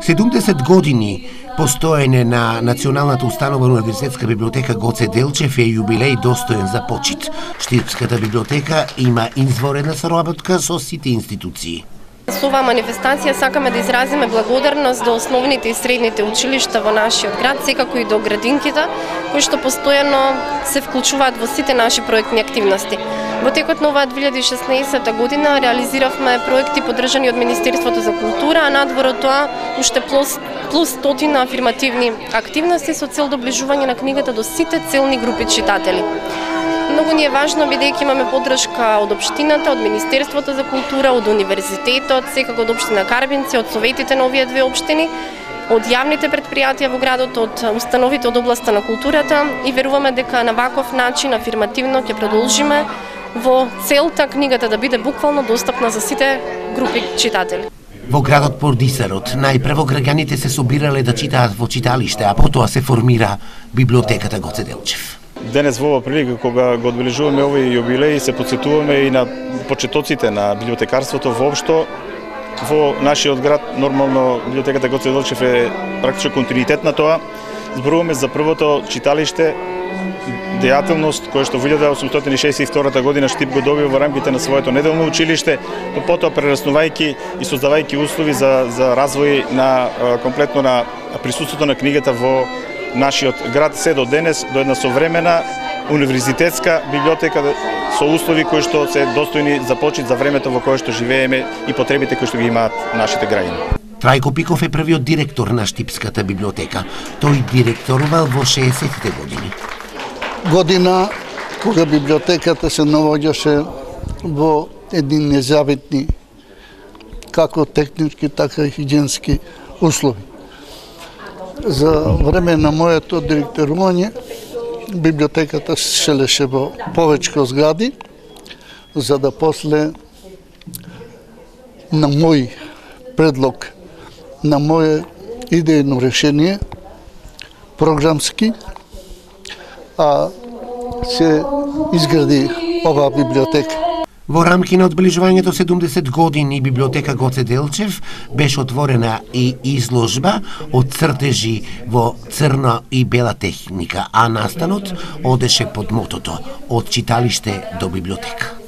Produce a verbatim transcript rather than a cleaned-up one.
седумдесет години постоење на Националната установа универзитетска библиотека Гоце Делчев е јубилеј достоен за почит. Штипската библиотека има изворена соработка со сите институции. Со оваа манифестација сакаме да изразиме благодарност до основните и средните училишта во нашиот град, секако и до градинките, кои што постојано се вклучуваат во сите наши проектни активности. Во текот на оваа две илјади и шеснаесетта година реализиравме проекти поддржани од Министерството за култура, а надвор од тоа уште плюс, плюс стотина афирмативни активности со цел доближување на книгата до сите целни групи читатели. Многу ни е важно бидејќи имаме поддршка од општината, од Министерството за култура, од универзитетот, секако од општина Карбинци, од советите на овие две општини, од јавните претпријатија во градот, од установите од областа на културата и веруваме дека на ваков начин афирмативно ќе продолжиме во целта книгата да биде буквално достапна за сите групи читатели. Во градот Пордисарот најпрво граѓаните се собирале да читаат во читалиште, а потоа се формира библиотеката Гоце Делчев. Денес во ова прилика кога го одбележуваме овој јубилеј се потсетуваме и на почетоците на библиотекарството воопшто во нашиот град. Нормално библиотеката Гоце Делчев е практично континуитет на тоа. Зборуваме за првото читалиште дејателност која што во илјада осумстотини шеесет и втора година Штип го добива во рамките на своето неделно училиште, но потоа прераснувајќи и создавајќи услови за за развој на комплетно на присуството на книгата во нашиот град се до денес, до една современа универзитетска библиотека со услови кои што се достојни за почит за времето во кое што живееме и потребите кои што ги имаат нашите граѓани. Трајко Пиков е првиот директор на Штипската библиотека. Тој директорувал во шеесеттите години. Година кога библиотеката се наоѓаше во едни незавитни како технички, така и хигиенски услови. За време на моето директорување библиотеката се шелеше во повеќе згради, за да после на мој предлог, на моје идејно решение, програмски, а се изгради оваа библиотека. Во рамки на одбележувањето седумдесет години библиотека Гоце Делчев беше отворена и изложба од цртежи во црна и бела техника, а настанот одеше под мотото од читалиште до библиотека.